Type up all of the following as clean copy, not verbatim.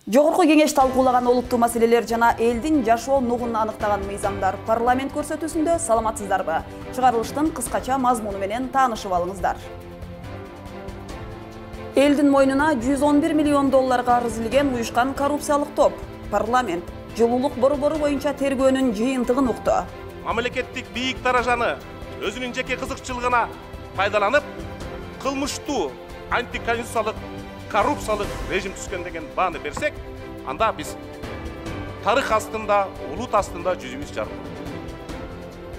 Жогорку кеңеш талкуулаган олуттуу маселелер жана элдин жашоо нугун аныктаган мыйзамдар парламент көрсөтүүсүндө саламатсыздарбы? Чыгарылыштын кыскача мазмуну менен таанышып алыңыздар. Элдин мойнуна 111 миллион долларга арыз илген уюшкан коррупциялык топ. Парламент жылуулук борбору боюнча тергөөнүн жыйынтыгын укту. Мамлекеттик бийик даражаны өзүнүн жеке кызыкчылыгына пайдаланып, кылмыштуу антиконституциялык коррупциялык режим түзгөн деген бааны берсек, анда биз тарых астында, улут астында жүзүбүз жарык.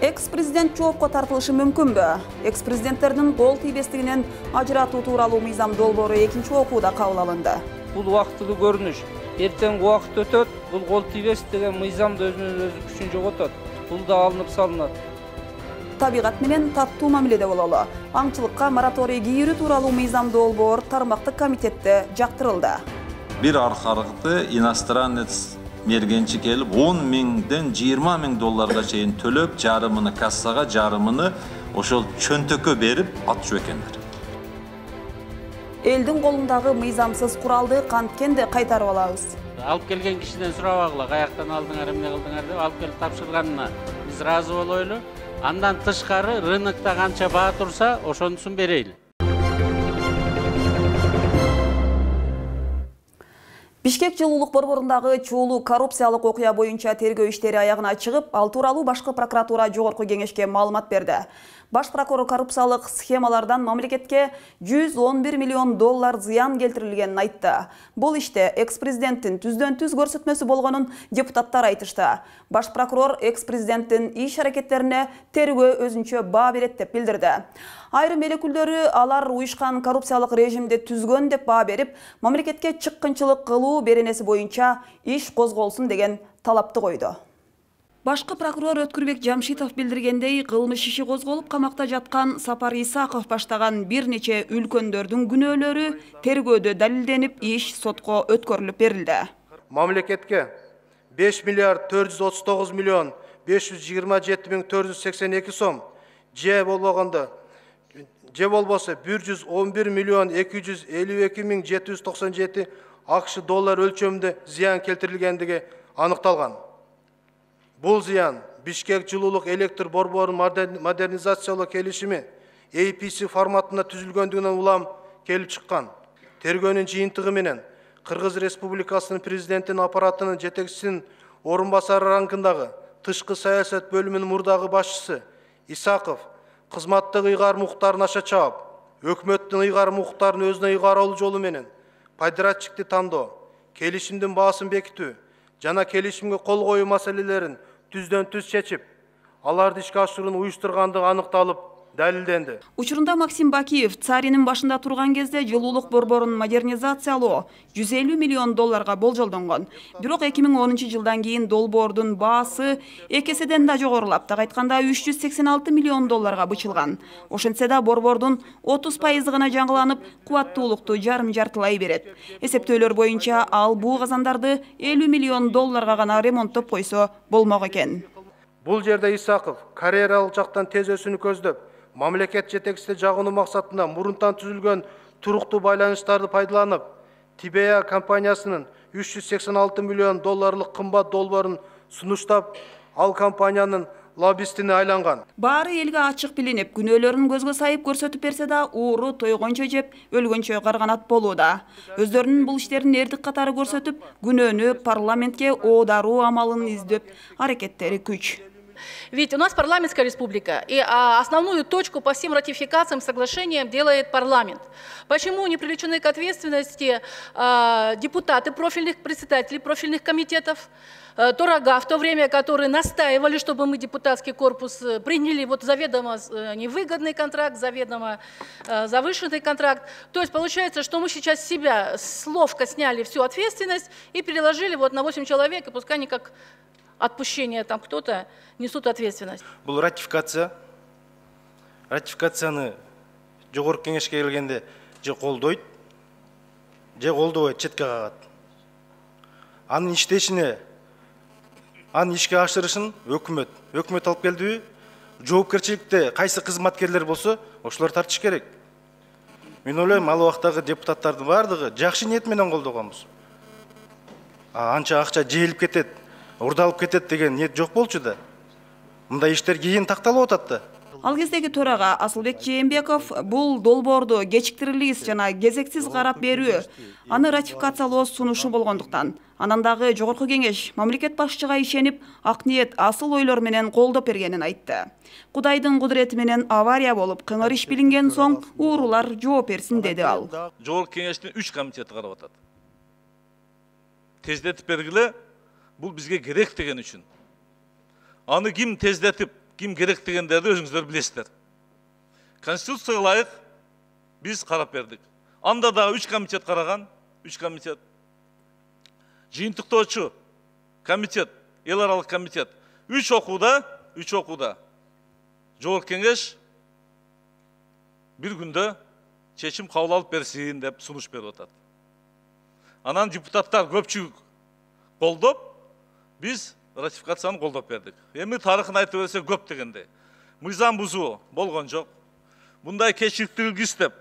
Экс-президент жоопко тартылышы мүмкүнбү? Экс-президенттердин кол тийбестигинен ажыратуу тууралуу мыйзам долбоору экинчи окууда кабыл алынды. Бул убактылуу көрүнүш. Эртең убакыт өтөт, бул кол тийбес деген мыйзам да өзүнүн өзү күчүн жоготот. Бул да алынып салынат. Табигат менен таттуу мамиледе бололу. Аңчылыкка мораторий кийирүү тууралуу мыйзам долбоор тармактык комитетте жактырылды. Бир аркырыкты иностранец мергенчи келип 10 миңден 20 миң долларга чейин төлөп, жарымыны кассага, жарымыны ошол чөнтөккө берип атчу экендер. Элдин колундагы мыйзамсыз куралды канткенде кайтарып алабыз. Алып келген кишиден сурабагыла, каяктан алдыңар, эмне кылдыңар деп алып келип тапшырганына биз ыраазы болойлу. Андан тышкары рынокто канча баа турса, ошонусун берейли. Бишкек жылуулук борборундагы чуулуу коррупциялык окуя боюнча тергөө иштери аягына чыгып, ал тууралуу башкы прокуратура жогорку кеңешке маалымат берди. Баш прокурор коррупциялык схемалардан мамлекетке 111 миллион доллар зыян келтирилгенин айтты. Бул иште экс-президенттин түздөн-түз көрсөтмөсү болгонун депутаттар айтышты. Баш прокурор экс-президенттин иш-аракеттерине тергөө өзүнчө баа берет деп билдирди. Айрым эл өкүлдөрү алар уюшкан коррупциялык режимди түзгөн деп баа берип, мамлекетке чыккынчылык кылуу беренеси боюнча иш козголсун деген талапты койду. Башкы прокурор Өткүрбек Жамшитов билдиргендей, кылмыш иши козголуп камакта жаткан Сапар Исаков баштаган бир нече үлкөндөрдүн күнөөлөрү тергөөдө далилденип, иш сотко өткөрүлүп берилди. Мамлекетке 5 миллиард 439 миллион 527 миң 482 сом же болбосо 111 миллион 252 миң 797 АКШ доллар өлчөмүндө зыян келтирилгендиги аныкталган. Бул зыян Бишкек жылуулук электр борборун модернизациялоо келишими APC форматында түзүлгөндүгүнөн улам келип чыккан. Тергөөнүн жыйынтыгы менен Кыргыз Республикасынын президентинин аппаратынын жетекчисинин орун басары рангындагы тышкы саясат бөлүмүнүн мурдагы башчысы Исаков кызматтык ыйгарым укуктарын аша чаап, өкмөттүн ыйгарым укуктарын өзүнө ыйгаралуу жолу менен подрядчикти тандоо, келишимдин баасын бекитүү жана келишимге кол коюу маселелерин түздөн-түз чечип, аларды ишке ашырууну уюштургандыгы аныкталып, далилденди. Учурунда Максим Бакиев царинин башында турган кезде жылуулук борборун модернизациялоо 150 миллион долларга болжолдонгон. Бирок 2010 жылдан кийин долбоордун баасы экеседен да жогорулап, так айтканда 386 миллион долларга бычылган. Ошентсе да борбордун 30% гана жаңыланып, кубаттуулукту жарым-жартылай берет. Эсептөөлөр боюнча ал буу казандарды 50 миллион долларга гана ремонттоп койсо болмок экен. Бул жерде Исаков карьералык жактан тез өсүүнү көздөп, мамлекет жетекчисине жагынуу максатында мурунтан түзүлгөн туруктуу байланыштарды пайдаланып, Тибея компаниясынын 386 миллион долларлык кымбат долбоорун сунуштап, ал компаниянын лоббистине айланган. Баары элге ачык билинип, күнөөлөрүн көзгө сайып көрсөтүп берсе да, ууру тойгончо жеп, өлгөнчө карганат болууда. Өздөрүнүн бул иштерин эрдик катары көрсөтүп, күнөөнү парламентке оодаруу амалын издеп, аракеттери күч. Ведь у нас парламентская республика, и основную точку по всем ратификациям, соглашениям делает парламент. Почему не привлечены к ответственности депутаты профильных, председателей профильных комитетов, Торога, в то время, которые настаивали, чтобы мы, депутатский корпус, приняли вот заведомо невыгодный контракт, заведомо завышенный контракт. То есть получается, что мы сейчас с себя ловко сняли всю ответственность и переложили вот на 8 человек, и пускай они как отпущение там кто-то несут ответственность. Бұл ратификацияны жогорку кеңешке келгенде же колдойт, же колдобойт, четке кагат. Анын иштешине, анын ишке ашырышын өкмөт алып келдиби, жоопкерчиликте кайсы кызматкерлер болсо, ошолор тартыш керек. Мен ойлойм, ал убактагы депутаттардын бардыгы жакшы ниет менен колдогонбуз. анча акча жейилип кетет, урдалып кетет деген ниет жок болчу да. Мындай иштер кийин такталып атат да. Ал кездеги төрага Асылбек Жээнбеков бул долбоорду кечиктирилис жана кезексиз карап берүү, аны ратификациялоо сунушу болгондуктан, анан дагы жогорку кеңеш мамлекет башчыга ишенип, ак ниет, асыл ойлор менен колдоп бергенин айтты. Кудайдын кудурети менен авария болуп, кыңыр иш билинген соң уурулар жооп берсин деди ал. Жогорку кеңештин 3 комитети карап атат. Тездетип бергиле, бул бизге керек деген үчүн. Аны ким тездетип, ким керек дегендерди өзүңүздөр билесиздер. Конституцияга ылайык биз карап бердик. Анда дагы 3 комитет караган, 3 комитет. Жыйынтыктоочу комитет, эл аралык комитет 3 окууда жогорку кеңеш бир күндө чечим кабыл алып берсин деп сунуш берип атат. Анан депутаттар көпчүлүк колдоп, биз ратификацияны колдоп бердик. Эми тарыхын айтып берсе көп дегенде. Мыйзам бузуу болгон жок. Мындай кечиктирилгис деп,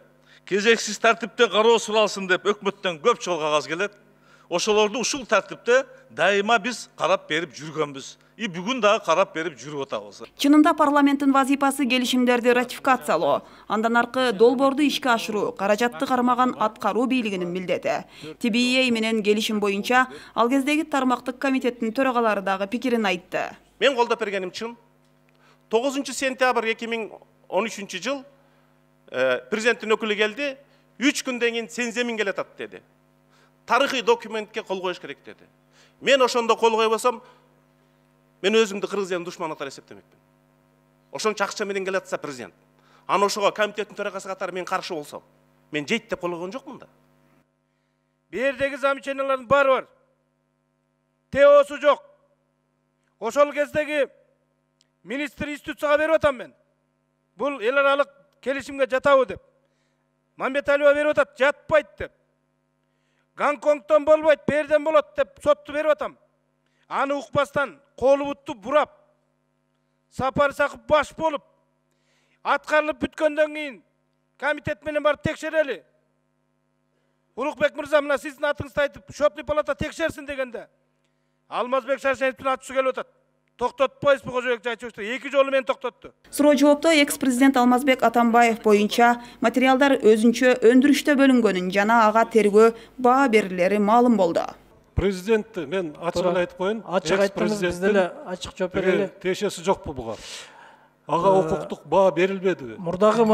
кезексиз тартипте кароо суралсын деп өкмөттөн көп жол кагаз келет. Ошолорду ушул тартипте дайыма биз карап берип жүргөнбүз. И бүгүн дагы карап берип жүрүп атабыз. Чынында парламенттин вазипасы келишимдерди ратификациялоо, андан аркы долбоорду ишке ашыруу, каражатты кармаган аткаруу бийлигинин милдети. TBA менен келишим боюнча ал кездеги тармактык комитеттин төрагалары дагы пикирин айтты. Мен колдоп бергеним чын. 9 сентябрь 2013 жыл президенттин өкүлү келди, 3 күндөн кийин сенземин келатат деди. Тарыхый документке кол коюш керек деди. Мен ошондо кол койбосом, мен өзүмдү Кыргызстандын душманы катары эсептемекмин. Ошончо акча менен келатса президент. Аны ошого комитеттин төрагасы катары мен каршы болсом, мен жейт деп кол койгон жокмун да. Бердеги замечаниялардын баары бар. ТОсу жок. Ошол кездеги министр институцияга берип атам мен. Бул эл аралык келишимге жатабы деп. Мамбеталиева берип атат, жатпайт деп. Гонконгтон болбойт, берден болот деп сотту берип атам. Аны укпастан колу бутту бурап, Сапар Сакып баш болуп, аткарылып бүткөндөн кийин комитет менен барып текшерели. Улукбек мырза, мына сиздин атыңызды айтып, счетный палата текшерсин дегенде, Алмазбек Шаршеновдун атысы келип атат. Токтотпойсузбу Кожобек Жайчиевич? 2 жолу мени токтотту. Суроо жоопто экс-президент Алмазбек Атамбаев боюнча материалдар өзүнчө өндүрүштө бөлүнгөнүн жана ага тергөө баа берилери маалым болду. Президентти мен ачык айтып коеюн. Ачык айттыңыз, биз деле ачык жооп берели. Тиешеси жокпу буга? Ага укуктук баа берилбеди. Мурдагы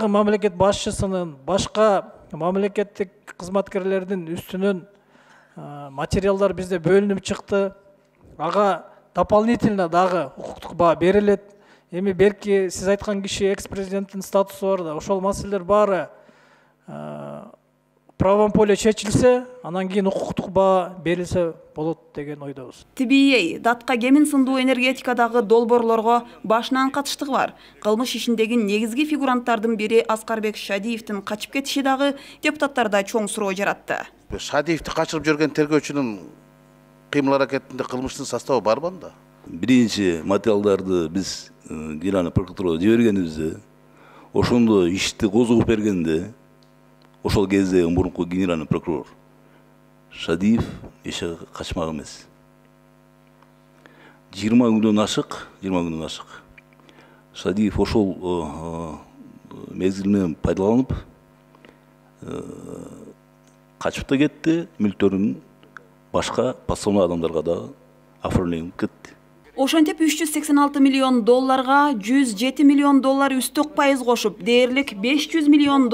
мамлекет башчысынын башка мамлекеттик кызматкерлердин үстүнөн материалдар бизде бөлүнүп чыкты. Ага дополнительно дагы укуктук баа берилет. Эми берки сиз айткан киши экс-президенттин статусу бар да, ошол маселелер баары правом поле чечилсе, анан кийин укуктук баа берилсе болот деген ойдобуз. TBA датка кемин сындуу энергетикадагы долбоорлорго башынан катыштыгы бар. Кылмыш ишиндеги негизги фигуранттардын бири Аскарбек Шадиевдин качып кетиши дагы депутаттарда чоң суроо жаратты. Шадиевди качырып жүргөн тергөөчүнүн кыймыл аракетинде кылмыштын составы барбы анда? Биринчи материалдарды биз Генеральный прокуратурага жибергенибизде, ошондо ишти козгоп бергенде, ошол кезде мурунку генеральный прокурор Шадиев эче качмак эмес. 20 күндөн ашык. Шадиев ошол мезгил менен пайдаланып качып да кетти, мүлктөрүн башка подставной адамдарга да оформленип кетти. Ошентип $386 миллион 107 миллион үстөк пайыз кошуп, дээрлик $500 миллион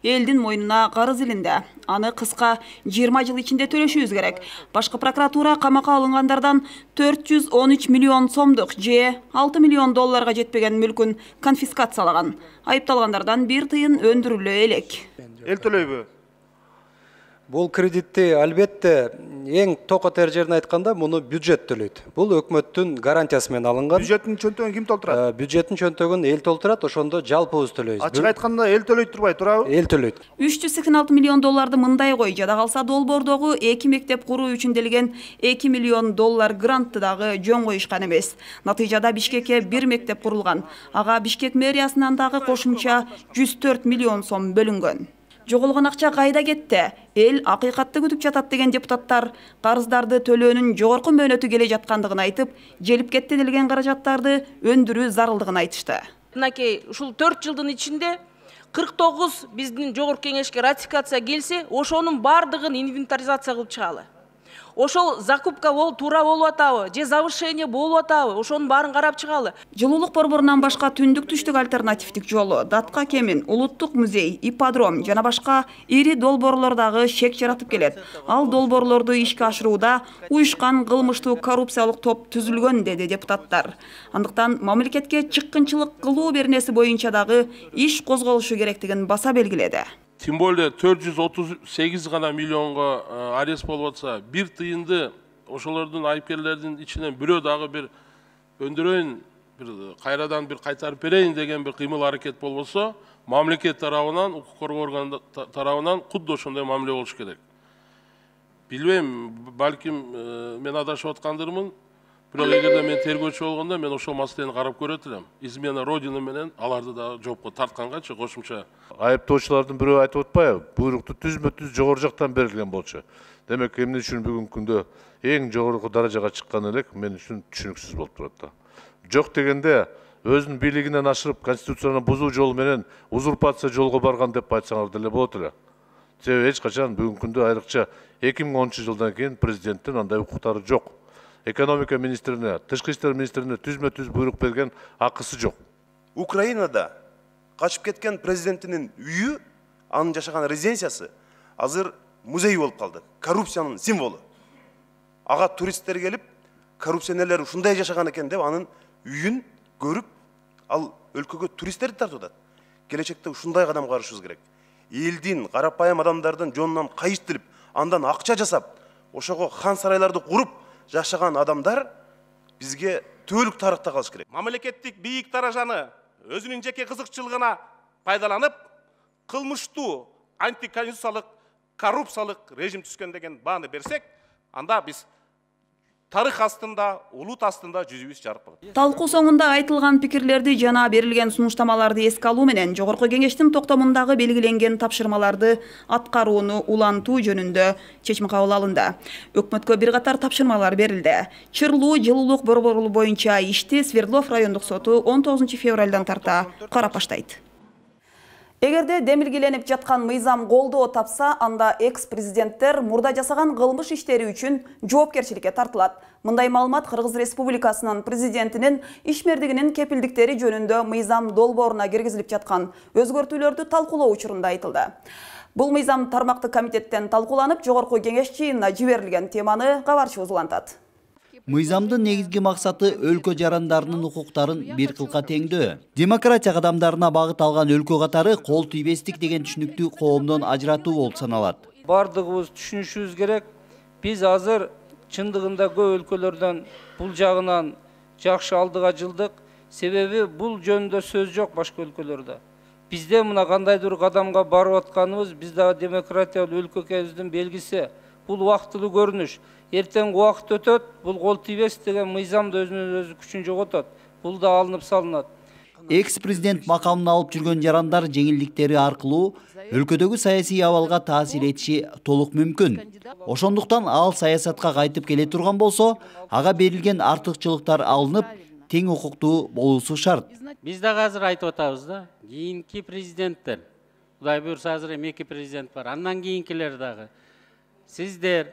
элдин мойнуна карыз илинде. Аны кыска 20 жыл ичинде төлөшүбүз керек. Башкы прокуратура камакка алынгандардан 413 миллион сомдук же $6 миллион жетпеген мүлкүн конфискациялаган. Айыпталгандардан бир тыйын өндүрүлө элек. Эл төлөйбү? Бул кредитти албетте эң токотер жерин айтканда муну бюджет төлөйт. Бул өкмөттүн гарантиясы менен алынган. Бюджеттин чөнтөгүн ким толтурат? Бюджеттин чөнтөгүн эл толтурат, ошондо жалпыбыз төлөйбүз. Ачык айтканда эл төлөйт турбай турабы? Эл төлөйт. 386 миллион мындай кой, жада калса долбоордогу 2 мектеп куруу үчүн делген $2 миллион грантты дагы жөн коюшкан эмес. Натыйжада Бишкекке 1 мектеп курулган. Ага Бишкек мэриясынан дагы кошумча 104 миллион сом бөлүнгөн. Жоголгон акча кайда кетти? Эл акыйкатты күтүп жатат деген депутаттар карыздарды төлөөнүн жогорку мөөнөтү келе жаткандыгын айтып, желип кетти делген каражаттарды өндүрүү зарылдыгын айтышты. Мынакей ушул 4 жылдын ичинде 49 биздин жогорку кеңешке ратификация келсе, ошонун бардыгын инвентаризация кылып чыгалы. Ошол закупка туура болуп атабы, же завышение болуп атабы, ошонун баарын карап чыгалы. Жылуулук борборунан башка түндүк түштүк альтернативдик жолу, Датка Кемин, Улуттук музей, ипподром жана башка ири долбоорлордогы шек жаратып келет. Ал долбоорлорду ишке ашырууда уюшкан кылмыштуу коррупциялык топ түзүлгөн, деди депутаттар. Андыктан мамлекетке чыккынчылык кылуу беренеси боюнча дагы иш козголушу керектигин баса белгиледи. Тем более 438 гана миллионго арест болуп атса, бир тыйынды ошолордун айыпкерлердин ичинен бирөө дагы бир өндүрөйүн, кайрадан бир кайтарып берейин деген бир кыймыл аракет болбосо, мамлекет тарабынан, укук коргоо орган тарабынан кудду ошондой мамиле болуш керек. Билбейм, балким мен адашып аткандырмын. Бирок эгерде мен тергөөчү болгондо мен ошол маселени карап көрөт элем. Измена Родина менен аларды да жоопко тарткангачы кошумча. Айыптоочулардын бирөө айтып атпайбы? Буйрукту түзмө-түз жогору жактан берилген болчу. Демек, эмне үчүн бүгүнкү күндө эң жогорку даражага чыккан элек мен үчүн түшүнүксүз болуп турат да. Жок дегенде өзүнүн бийлигинен ашырып конституцияны бузуу жолу менен узурпация жолго барган деп айтсаңар деле болот эле. Себеби эч качан бүгүнкү күндө айрыкча 2010-жылдан кийин президенттин андай укуктары жок. Экономика министрине, тышкы иштер министрине түзмө-түз буйрук берген акысы жок. Украинада качып кеткен президентинин үйү, анын жашаган резиденциясы азыр музей болуп калды. Коррупциянын символу. Ага туристтер келип, коррупционерлер ушундай жашаган экен деп анын үйүн көрүп, ал өлкөгө туристтерди тартып атат. Келечекте ушундай кадам карышыбыз керек. Элдин, карапайым адамдардын жонунан кайыштырып, андан акча жасап, ошого хан сарайларды куруп жашаган адамдар бизге төөлүк тарыхта калыш керек. Мамлекеттик бийик даражаны өзүнүн жеке кызыкчылыгына пайдаланып, кылмыштуу антиконституциялык коррупциялык режим түзгөн деген бааны берсек, анда биз тарых астында, улут астында жүзүбүз жарык болот. Талкуу соңунда айтылган пикирлерди жана берилген сунуштамаларды эске алуу менен жогорку кеңештин токтомундагы белгиленген тапшырмаларды аткарууну улантуу жөнүндө чечим кабыл алынды. Өкмөткө бир катар тапшырмалар берилди. Чырлуу жылуулук борбору боюнча ишти Свердлов райондук соту 19 февралдан тарта карап баштайт. Эгерде демилгеленип жаткан мыйзам колдоо тапса, анда экс-президенттер мурда жасаган кылмыш иштери үчүн жоопкерчиликке тартылат. Мындай маалымат Кыргыз Республикасынын президентинин ишмердигинин кепилдиктери жөнүндө мыйзам долбооруна киргизилип жаткан өзгөртүүлөрдү талкуулоо учурунда айтылды. Бул мыйзам тармактык комитеттен талкууланып, жогорку кеңеш жыйынына жиберилген. Теманы кабарчыбыз улантат. Мыйзамдын негизги максаты өлкө жарандарынын укуктарын бир кылка теңдөө. Демократия кадамдарына багыт алган өлкө катары кол тийбестик деген түшүнүктү коомдон ажыратуу болуп саналат. Бардыгыбыз түшүнүшүбүз керек. Биз азыр чындыгында көп өлкөлөрдөн бул жагынан жакшы алдыга жылдык. Себеби бул жөнүндө сөз жок башка өлкөлөрдө. Бизде мына кандайдыр кадамга барып атканыбыз биз дагы демократиялуу өлкө экенибиздин белгиси. Бул убактылуу көрүнүш. Эртең убакыт өтөт, бул кол тийбес деген мыйзам да өзүнүн өзү күчүн жоготот. Бул да алынып салынат. Экс-президент макамын алып жүргөн жарандар жеңилдиктери аркылуу өлкөдөгү саясий абалга таасир этиши толук мүмкүн. Ошондуктан ал саясатка кайтып келе турган болсо, ага берилген артыкчылыктар алынып, тең укуктуу болуусу шарт. Биз дагы азыр айтып атабыз да, кийинки президенттер, Кудай буйрса азыр эми 2 президент бар, андан кийинкилер дагы. Сиздер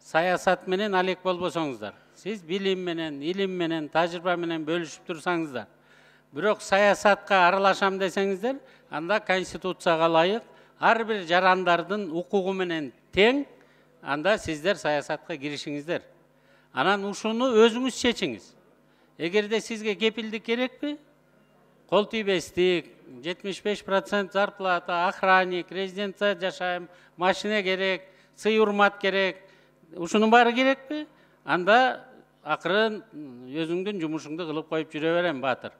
саясат менен алек болбосоңуздар. Сиз билим менен, илим менен, тажрыйба менен бөлүшүп турсаңыздар. Бирок саясатка аралашам десеңиздер, анда конституцияга ылайык ар бир жарандардын укугу менен тең, анда сиздер саясатка киришиңиздер. Анан ушуну өзүңүз чечиңиз. Эгерде сизге кепилдик керекпи? Кол тийбестик, 75% зарплата, охранник, резиденция жашайм, машина керек, сый урмат керек. Ушунун баары керекпи? Анда акырын өзүңдүн жумушуңду кылып коюп жүрө берем, баатыр.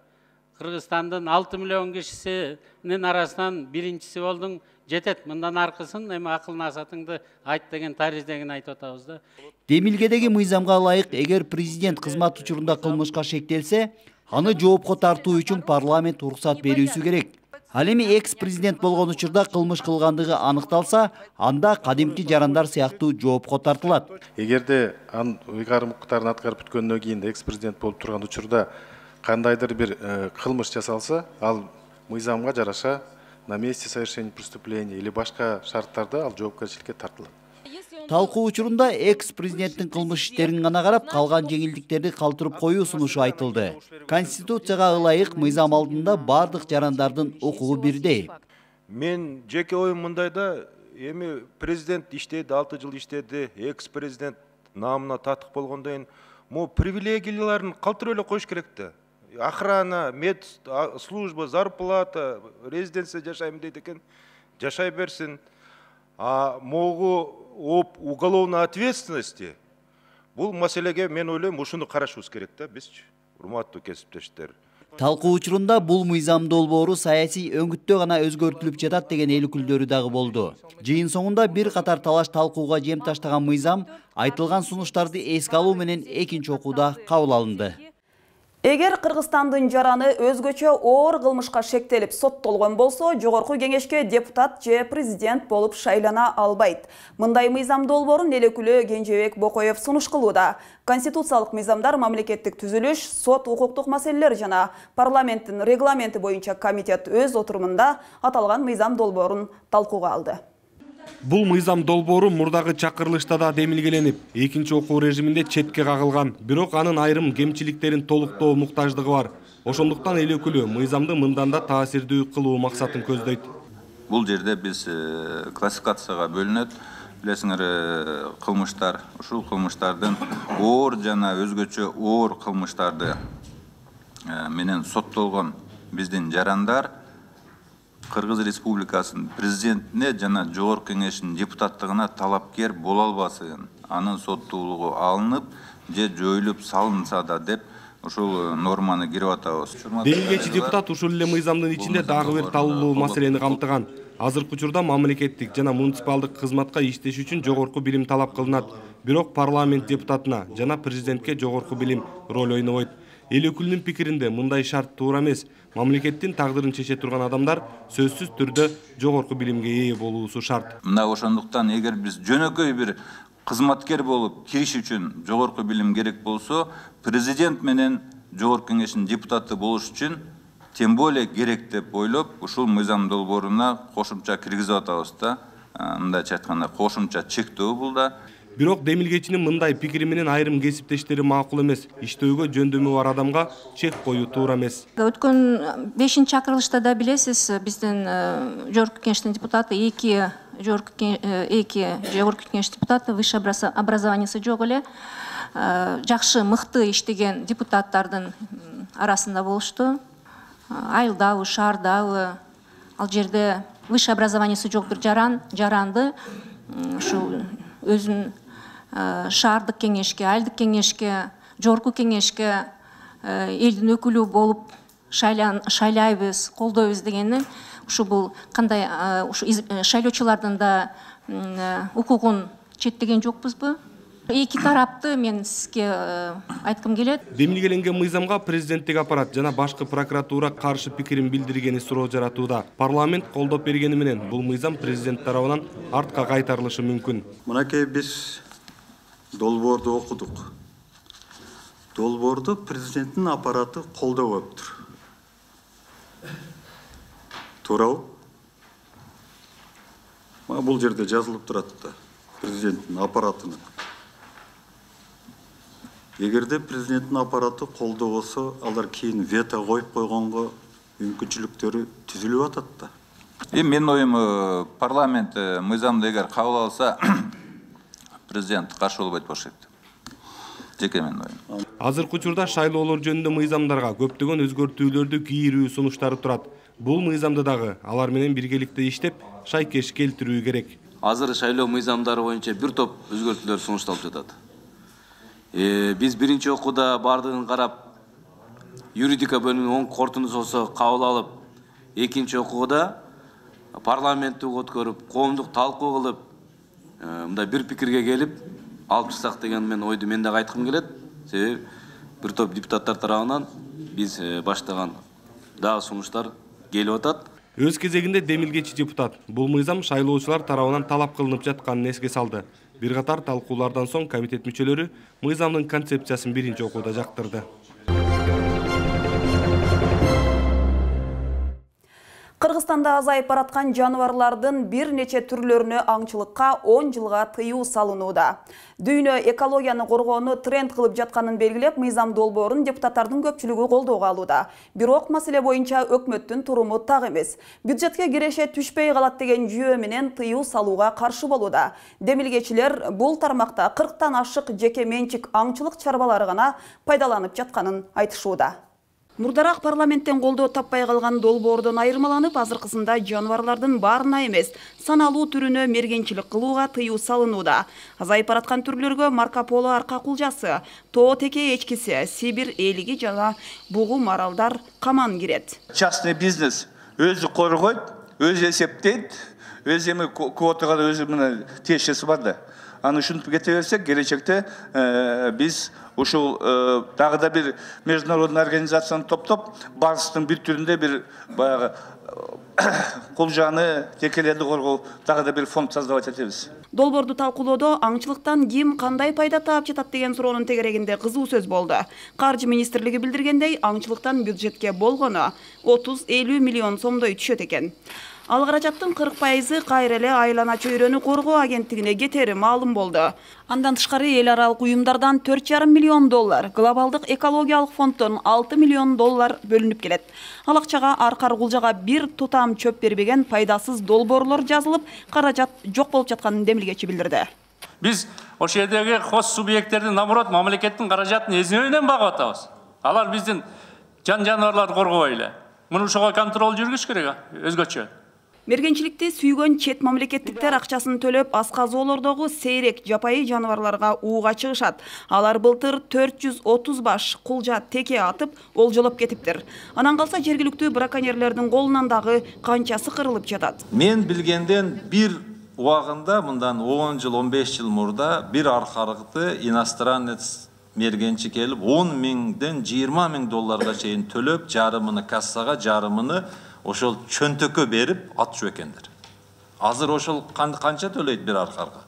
Кыргызстандын 6 миллион кишисинин арасынан биринчиси болдуң, жетет. Мындан аркысын эми акыл насатыңды айт деген тарыздегин айтып атабыз да. Демилгедеги мыйзамга ылайык, эгер президент кызмат учурунда кылмышка шектелсе, аны жоопко тартуу үчүн парламент уруксат берүүсү керек. Ал эми экс-президент болгон учурда кылмыш кылгандыгы аныкталса, анда кадимки жарандар сыяктуу жоопко тартылат. Эгерде ыйгарым укуктарын аткарып бүткөндөн кийин экс-президент болуп турган учурда кандайдыр бир кылмыш жасалса, ал мыйзамга жараша на месте совершения преступления или башка шарттарда ал жоопкерчиликке тартылат. Талкуу учурунда экс-президенттин кылмыш иштерин гана карап, калган жеңилдиктерди калтырып коюу сунушу айтылды. Конституцияга ылайык мыйзам алдында бардык жарандардын укугу бирдей. Мен жеке оюм мындайда, эми президент иштеди, 6 жыл иштеди, экс-президент намына татык болгондон кийин, могу привилегияларын калтырып эле коюш керек да. Охрана, медслужба, зарплата, резиденция жашайм дейт экен, жашай берсин. А могу об уголовной ответственности бул маселеге мен ойлойм ушуну карашыбыз керек да бизчи, урматтуу кесиптештер. Талкуу учурунда бул мыйзам долбоору саясий өңүттө гана өзгөртүлүп жатат деген эл өкүлдөрү дагы болду. Жыйын соңунда бир катар талаш талкууга жем таштаган мыйзам айтылган сунуштарды эске алуу менен экинчи окууда кабыл алынды. Эгер Кыргызстандын жараны өзгөчө оор кылмышка шектелип соттолгон болсо, жогорку кеңешке депутат же президент болуп шайлана албайт. Мындай мыйзам долбоорун эл өкүлү Кенжебек Бокоев сунуш кылууда. Конституциялык мыйзамдар, мамлекеттик түзүлүш, сот укуктук маселелер жана парламенттин регламенти боюнча комитет өз отурумунда аталган мыйзам долбоорун талкууга алды. Бул мыйзам долбоору мурдагы чакырылышта да демилгеленип, экинчи окуу режиминде четке кагылган, бирок анын айрым кемчиликтерин толуктоо муктаждыгы бар. Ошондуктан эл өкүлү мыйзамды мындан да таасирдүү кылуу максатын көздөйт. Бул жерде биз классификацияга бөлүнөт. Билесиңер, кылмыштар, ушул кылмыштардын оор жана өзгөчө оор кылмыштарды менен соттолгон биздин жарандар Кыргыз Республикасынын президентине жана жогорку кеңештин депутаттыгына талапкер боло албасын, анын соттуулугу алынып же жоюлуп салынса да деп ушул норманы кирип атабыз. Демилгечи депутат ушул эле мыйзамдын ичинде дагы бир талуулуу маселени камтыган. Азыркы учурда мамлекеттик жана муниципалдык кызматка иштеш үчүн жогорку билим талап кылынат. Бирок парламент депутатына жана президентке жогорку билим роль ойнобойт. Эл өкүлүнүн пикиринде мындай шарт туура эмес. Мамлекеттин тагдырын чече турган адамдар сөзсүз түрдө жогорку билимге ээ болуусу шарт. Мына ошондуктан эгер биз жөнөкөй бир кызматкер болуп кириш үчүн жогорку билим керек болсо, президент менен жогорку кеңештин депутаты болуш үчүн тем более керек деп ойлоп, ушул мыйзам долбооруна кошумча киргизип атабыз да. Мындайча айтканда кошумча чектөө бул да. Бирок демилгечинин мындай пикири менен айрым кесиптештери макул эмес. Иштөөгө жөндөмү бар адамга чек коюу туура эмес. Өткөн 5-чакырылышта да билесиз, биздин жогорку кеңештин депутаты, эки жогорку кеңеш депутаты, высшее образованиясы жок эле, жакшы мыкты иштеген депутаттардын арасында болушту. Айылдабы, шаардабы, ал жерде высшее образованиясы жок бир жаранды ушул өзүн шаардык кеңешке, айылдык кеңешке, жогорку кеңешке элдин өкүлү болуп шайлайбыз, колдойбуз дегенди, ушу бул кандай шайлоочулардын да укугун четтеген жокпузбу? Эки тарапты мен сизге айткым келет. Демилгеленген мыйзамга президенттик аппарат жана башкы прокуратура каршы пикирин билдиргени суроо жаратууда. Парламент колдоп бергени менен бул мыйзам президент тарабынан артка кайтарылышы мүмкүн. Мынакей биз долбоорду окудук. Долбоорду президенттин аппараты колдоп атыптыр. Туурабы? Бул жерде жазылып турат да, президенттин аппаратына. Эгерде президенттин аппараты колдобосо, алар кийин вето коюп койгонго мүмкүнчүлүктөрү түзүлүп атат да. Менин оюм, парламент мыйзамды эгер кабыл алса, президент каршы болбойт болуш керек. Жеке менин оюм. Азыркы учурда шайлоолор жөнүндө мыйзамдарга көптөгөн өзгөртүүлөрдү кийирүү сунуштары турат. Бул мыйзамды дагы алар менен биргеликте иштеп, шайкеш келтирүү керек. Азыр шайлоо мыйзамдары боюнча бир топ өзгөртүүлөр сунушталып жатат. Биз биринчи окууда бардыгын карап, юридика бөлүмүнүн оң корутундусу кабыл алып, экинчи окууда парламентти өткөрүп, коомдук талкуу кылып, мындай бир пикирге келип, алып чыксак деген мен ойду мен дагы айткым келет. Себеби бир топ депутаттар тарабынан биз баштаган дагы сунуштар келип атат. Өз кезегинде демилгечи депутат бул мыйзам шайлоочулар тарабынан талап кылынып жатканын эске салды. Бир катар талкуулардан соң комитет мүчөлөрү мыйзамдын концепциясын биринчи окууда жактырды. Кыргызстанда азайып бараткан жаныбарлардын бир нече түрлөрүнө аңчылыкка 10 жылга тыюу салынууда. Дүйнө экологияны коргоону тренд кылып жатканын белгилеп, мыйзам долбоорун депутаттардын көпчүлүгү колдоого алууда. Бирок маселе боюнча өкмөттүн туруму так эмес. Бюджетке киреше түшпөй калат деген жүйө менен тыюу салууга каршы болууда. Демилгечилер бул тармакта 40тан ашык жеке менчик аңчылык чарбалары гана пайдаланып жатканын айтышууда. Мурдараак парламенттен колдоо таппай калган долбоордон айырмаланып, азыркысында жаныбарлардын баарына эмес, саналуу түрүнө мергенчилик кылууга тыюу салынууда. Азайып бараткан түрлөргө Марко Поло арка кулжасы, тоо теке эчкиси, Сибир элиги жана бугу маралдар каман кирет. Частный бизнес өзү коргойт, өзү эсептейт, өзү эми квотага өзү мына тиешеси бар да. Аны ушинтип кете берсек, келечекте биз ушул дагы да бир международный организацияны топтоп, барыстын бир түрүндө бир баягы кулжаны, текелерди коргоо дагы да бир фонд создавать этебиз. Долбоорду талкуулоодо аңчылыктан ким кандай пайда таап жатат деген суроонун тегерегинде кызуу сөз болду. Каржы министрлиги билдиргендей, аңчылыктан бюджетке болгону 30-50 миллион сомдой түшөт экен. Ал каражаттын 40% кайра эле айлана чөйрөнү коргоо агенттигине кетери маалым болду. Андан тышкары эл аралык уюмдардан 4,5 миллион доллар, глобалдык экологиялык фонддон 6 миллион доллар бөлүнүп келет. Ал акчага аркар кулжага бир тутам чөп бербеген пайдасыз долбоорлор жазылып, каражат жок болуп жатканын демилгечи билдирди. Биз ошол жердеги хос субъекттердин наоборот мамлекеттин каражатын эземеден багып атабыз. Алар биздин жаныбарларды коргобой эле. Муну ошого контроль жүргүш керек, өзгөчө. Мергенчиликти сүйгөн чет мамлекеттиктер акчасын төлөп, асказоолордогу сейрек жапайы жаныбарларга ууга чыгышат. Алар былтыр 430 баш кулжа теке атып, олжолоп кетиптир. Анан калса жергиликтүү браконьерлердин колунан дагы канчасы кырылып жатат. Мен билгенден бир убагында, мындан 10 жыл, 15 жыл мурда бир аркарыкты иностранец мергенчи келип 10 миңден 20 миң долларга чейин төлөп, жарымыны кассага, жарымыны ошол чөнтөккө берип атчу экендер. Азыр ошол канча төлөйт бир аркарга?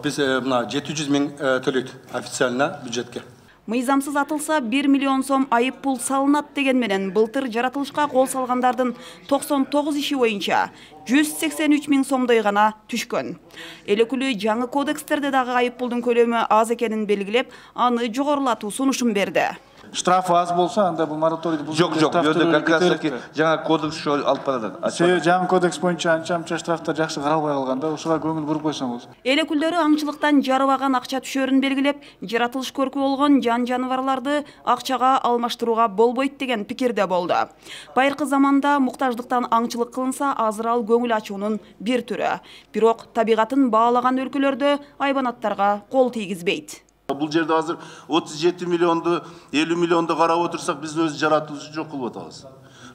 Биз мына 700 миң төлөйт официально бюджетке. Мыйзамсыз атылса 1 миллион сом айып пул салынат деген менен былтыр жаратылышка кол салгандардын 99 иши боюнча 183 миң сомдой гана түшкөн. Эл өкүлү жаңы кодекстерде дагы айып пулдун көлөмү аз экенин белгилеп, аны жогорулатуу сунушун берди. Штраф аз болса, анда бул мораторийди бул Жок, как раз таки жаңа кодекс ошо алып барат. Себеби жаңы кодекс боюнча анча штрафтар жакшы каралбай калган да, ушуга көңүл буруп койсоңуз. Эл өкүлдөрү аңчылыктан жарыбаган акча түшөрүн белгилеп, жаратылыш көркү болгон жаныбарларды акчага алмаштырууга болбойт деген пикирде болду. Байыркы заманда муктаждыктан аңчылык кылынса, азыр ал көңүл ачуунун бир түрү. Бирок табигатын баалаган өлкөлөрдө айбанаттарга кол тийгизбейт. Бул жерде азыр 37 миллионду, 50 миллионду карап отурсак, биз өз жаратылышты жок кылып атабыз.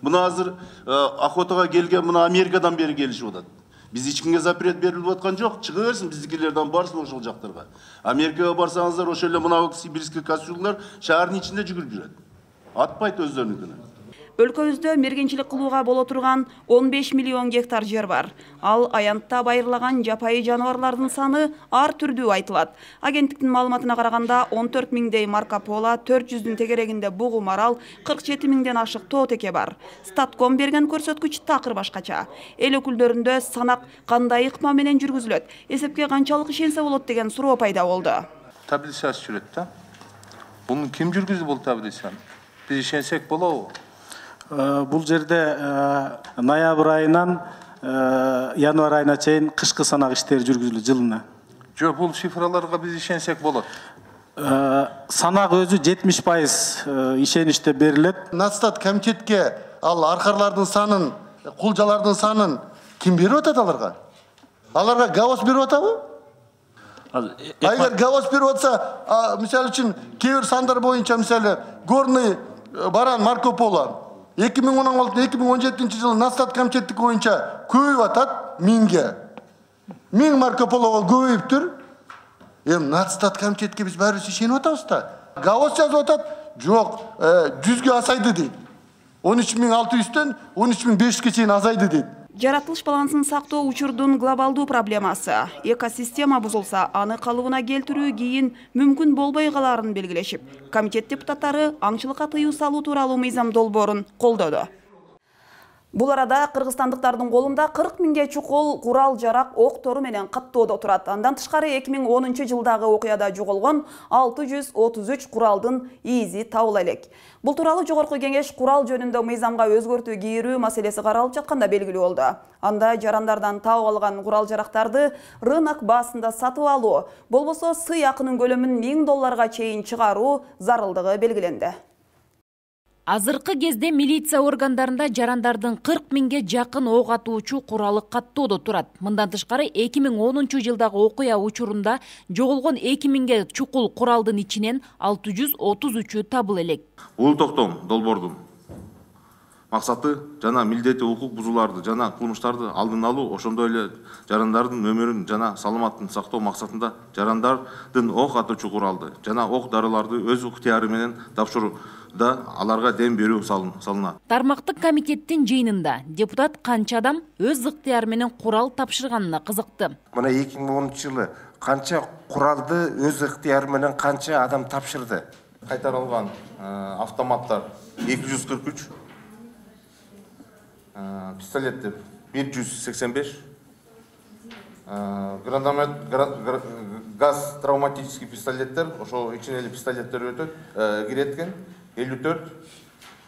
Мына азыр охотага келген мына Америкадан бери келишип атат. Биз эч кимге запрет берилип аткан жок, чыга берсин биздикилерден барсын ошол жактарга. Америкага барсаңыздар, ошол эле мына сибирский костюмдар шаардын ичинде жүгүрүп жүрөт. Атпайт өздөрүнүкүнө. Өлкөбүздө мергенчилик кылууга боло турган 15 миллион гектар жер бар. Ал аянтта байырлаган жапайы жаныбарлардын саны ар түрдүү айтылат. Агенттиктин маалыматына караганда 14 миңдей Марко Поло, 400-дүн тегерегинде бугу марал, 47 миңден ашык тоо теке бар. Статком берген көрсөткүч такыр башкача. Эл өкүлдөрүндө санак кандай ыкма менен жүргүзүлөт, эсепке канчалык ишенсе болот деген суроо пайда болду. Таблицасы жүрөт да. Буну ким жүргүзүп бул таблицаны? Биз ишенсек болобу? Бул жерде ноябрь айынан январь айына чейин кышкы санак иштери жүргүзүлөт жылына. Жок, бул цифраларга биз ишенсек болот. Санак өзү 70% ишеничте берилет. Натстат комитетке ал аркарлардын санын, кулжалардын санын ким берип атат аларга? Аларга ГАОС берип атабы? Эгер ГАОС берип атса, мисалы үчүн кээ бир сандар боюнча, мисалы горный баран Марко Поло 2016-2017 жылы Натстат комитеттик боюнча көбөйүп атат 1000ге. 1000 Марко Полого көбөйүптүр. Эми Натстат комитетке биз баарыбыз ишенип атабыз да. ГАОС жазып атат, жок, 100ге асайды дейт. 13.600'den 13.500'e чейин azaydı dedi. Жаратылыш балансын сактоо учурдун глобалдуу проблемасы. Экосистема бузулса, аны калыбына келтирүү кийин мүмкүн болбой каларын белгилешип, комитет депутаттары аңчылыкка тыюу салуу тууралуу мыйзам долбоорун колдоду. Бул арада кыргызстандыктардын колунда 40 миңге чукул курал-жарак ок-тору менен каттоодо турат. Андан тышкары 2010-жылдагы окуяда жоголгон 633 куралдын изи табыла элек. Бул тууралуу Жогорку Кеңеш курал жөнүндө мыйзамга өзгөртүү кийирүү маселеси каралып жатканда белгилүү болду. Анда жарандардан табып алган курал-жарактарды рынок баасында сатып алуу, болбосо сый акынын көлөмүн $1000 чейин чыгаруу зарылдыгы белгиленди. Азыркы кезде милиция органдарында жарандардын 40 миңге жакын ок атуучу куралы каттоодо турат. Мындан тышкары 2010-жылдагы окуя учурунда жоголгон 2 миңге чукул куралдын ичинен 633-ü табыла элек. Бул токтом долбоордун максаты жана милдети укук бузууларды жана кылмыштарды алдын алуу, ошондой эле жарандардын өмүрүн жана саламаттын сактоо максатында жарандардын ок атуучу куралды жана ок дарыларды өз ыктыяры менен тапшыруу да аларга дем берүү салынат. Тармактык комитеттин жыйынында депутат канча адам өз ыктыяры менен курал тапшырганына кызыкты. Мына 2010-жылы канча куралды өз ыктыяры менен канча адам тапшырды? Кайтарылган автоматтар 243, пистолеттер 185, гранатомет, газ травматический пистолеттер, ошо ичине эле пистолеттер өтөт, киреткен 54,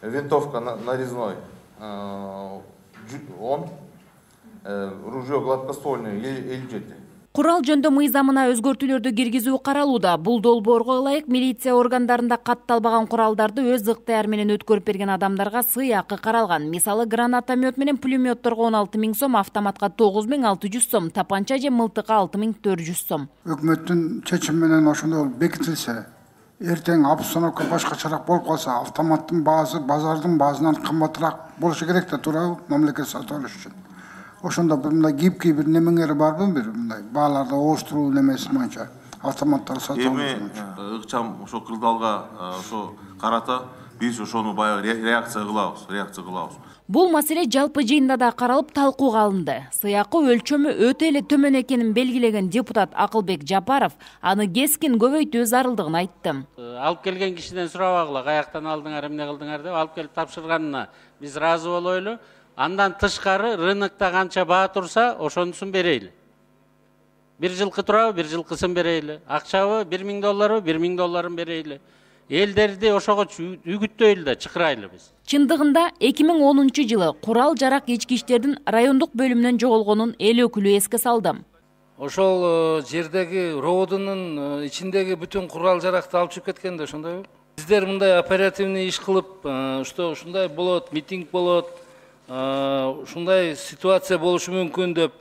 винтовка нарезной 10, ружье гладкоствольное 57. Курал жөндө мыйзамына өзгөртүүлөрдү киргизүү каралууда. Бул долбоорго ылайык милиция органдарында катталбаган куралдарды өз ыктыяры менен өткөрүп берген адамдарга сый акы каралган. Мисалы, гранатомет менен пулеметторго 16 000 сом, автоматка 9600 сом, тапанча же мылтыкка 6400 сом. Өкмөттүн чечими менен ошондой бекитилсе, эртең обстановка башкачараак болуп калса, автоматтын баасы базардын баасынан кымбатыраак болушу керек да, туурабы, мамлекет сатып алыш үчүн. Ошондо мындай кийипки бир немеңери барбы, бир мындай бааларды ооштуруу немеси боюнча автоматтар сатып алуу боюнча. Ыкчам ошо кырдаалга ошо карата биз ошону баягы реакция кылабыз. Бул маселе жалпы жыйында да каралып талкууга алынды. Сыйакы өлчөмү өтө эле төмөн экенин белгилеген депутат Акылбек Жапаров аны кескин көбөйтүү зарылдыгын айтты. Алып келген кишиден сурабагыла, каяктан алдыңар, эмне кылдыңар деп алып келип тапшырганына биз ыраазы болойлу. Андан тышкары рынокто канча баа турса, ошонусун берейли. Бир жылкы турабы, бир жылкысын берейли. Акчабы $1000, $1000 берейли. Элдерди ошого үгүттөйлү да чакырайлы биз. Чындыгында 2010-жылы курал-жарак ички иштердин райондук бөлүмүнөн жоголгонун эл өкүлү эске салды. Ошол жердеги роводунун ичиндеги бүтүн курал-жаракты алып чыгып кеткен да, ошондойбу? Биздер мындай оперативный иш кылып, ушундай болот, митинг болот, ушундай ситуация болушу мүмкүн деп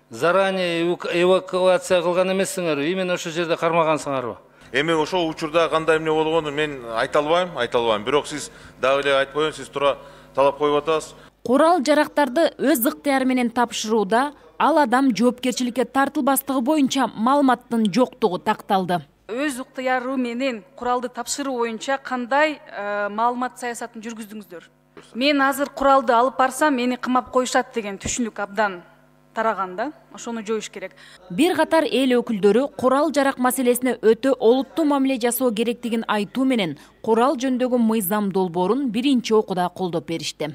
заранее эвакуация кылган эмессиңерби? Именно ошол жерде кармагансыңарбы? Эми ошол учурда кандай эмне болгонун мен айта албайм. Бирок сиз дагы эле айтып коеюн, сиз туура талап коюп атасыз. Курал-жарактарды өз ыктыяры менен тапшырууда ал адам жоопкерчиликке тартылбастыгы боюнча маалыматтын жоктугу такталды. Өз ыктыяры менен куралды тапшыруу боюнча кандай маалымат саясатын жүргүздүңүздөр? Мен азыр куралды алып барсам, мени кымап коюшат деген түшүнүк абдан тараганда, ошону жоюш керек. Бир катар эл өкүлдөрү курал-жарак маселесине өтө олуттуу мамиле жасоо керектигин айтуу менен курал жөнүндөгү мыйзам долбоорун биринчи окууда колдоп беришти.